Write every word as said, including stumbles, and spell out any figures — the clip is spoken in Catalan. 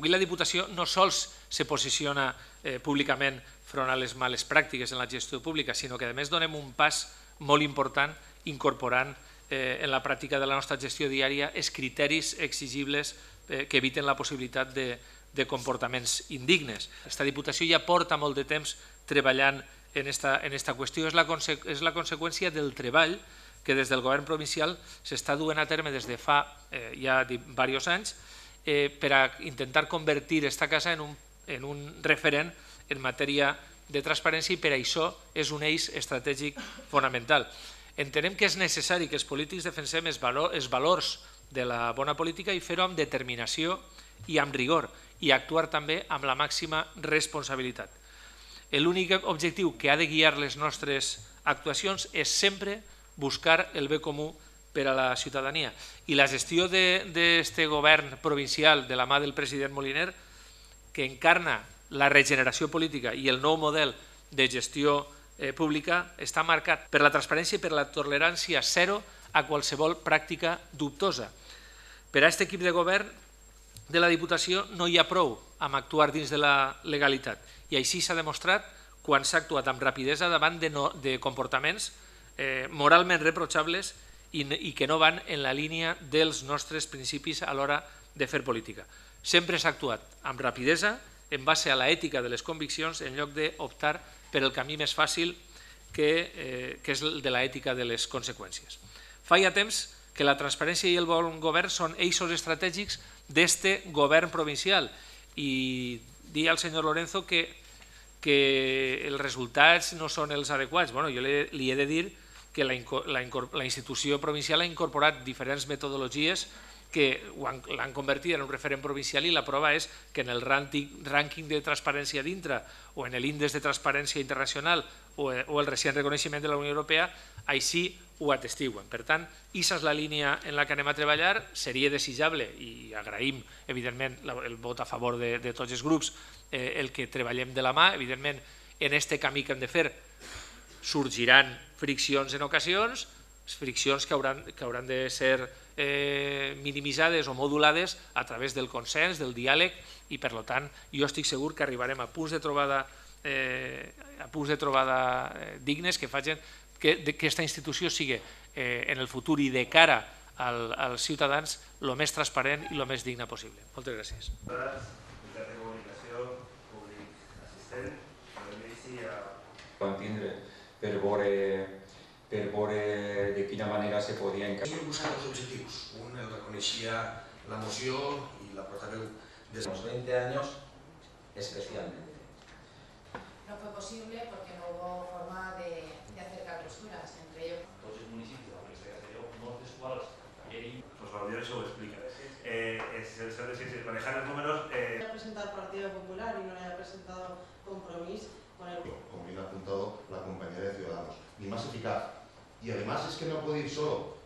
avui la Diputació no sols se posiciona eh, públicament front a les males pràctiques en la gestió pública, sinó que a més donem un pas molt important incorporant eh, en la pràctica de la nostra gestió diària els criteris exigibles eh, que eviten la possibilitat de, de comportaments indignes. Aquesta Diputació ja porta molt de temps treballant en esta, en esta qüestió. És la, conse és la conseqüència del treball que des del govern provincial s'està duent a terme des de fa eh, ja diversos anys eh, per a intentar convertir aquesta casa en un, en un referent en matèria de transparència i per això és un eix estratègic fonamental. Entenem que és necessari que els polítics defensem els, valor, els valors de la bona política i fer-ho amb determinació i amb rigor i actuar també amb la màxima responsabilitat. L'únic objectiu que ha de guiar les nostres actuacions és sempre buscar el bé comú per a la ciutadania. I la gestió d'aquest govern provincial de la mà del president Moliner, que encarna la regeneració política i el nou model de gestió eh, pública, està marcat per la transparència i per la tolerància zero a qualsevol pràctica dubtosa. Per a aquest equip de govern de la Diputació no hi ha prou amb actuar dins de la legalitat i així s'ha demostrat quan s'ha actuat amb rapidesa davant de, no, de comportaments eh, moralment reprotxables i, i que no van en la línia dels nostres principis a l'hora de fer política. Sempre s'ha actuat amb rapidesa, en base a l'ètica de les conviccions, en lloc d'optar per el camí més fàcil que, eh, que és el de l'ètica de les conseqüències. Fa ja temps que la transparència i el bon govern són eixos estratègics d'este govern provincial i dir al senyor Lorenzo que, que els resultats no són els adequats. Bueno, jo li, li he de dir que la, la, la institució provincial ha incorporat diferents metodologies que l'han convertit en un referent provincial i la prova és que en el rànquing de transparència dintre o en l'índex de transparència internacional o el recent reconeixement de la Unió Europea així ho atestiguen. Per tant, aquesta és la línia en la que anem a treballar. Seria desitjable, i agraïm evidentment el vot a favor de, de tots els grups, eh, el que treballem de la mà. Evidentment, en aquest camí que hem de fer sorgiran friccions en ocasions, friccions que hauran, que hauran de ser eh, minimitzades o modulades a través del consens, del diàleg, i per tant jo estic segur que arribarem a punts de trobada, eh, a punts de trobada eh, dignes que facin que aquesta institució sigui eh, en el futur i de cara al, als ciutadans el més transparent i el més digne possible. Moltes gràcies. Mitjans de comunicació, públic assistent, van tindre per veure per veure de quina manera se podia encaixar. Hem buscat dos objectius. Un el reconeixia la moció i la portaveu de los veinte años especialmente. No fue posible porque no hubo forma de, de hacer clausuras entre ellos. Tots els municipis de la Universitat de Castelló, molts dels quals ell... Pues Valdir eso lo explica. Eh, es, es, es, es, manejar los números... Eh... Ha presentado el Partido Popular y no le ha presentado Compromís con el... Como bien ha apuntado la compañera de Ciudadanos, ni más eficaz. Y además es que no puede ir solo,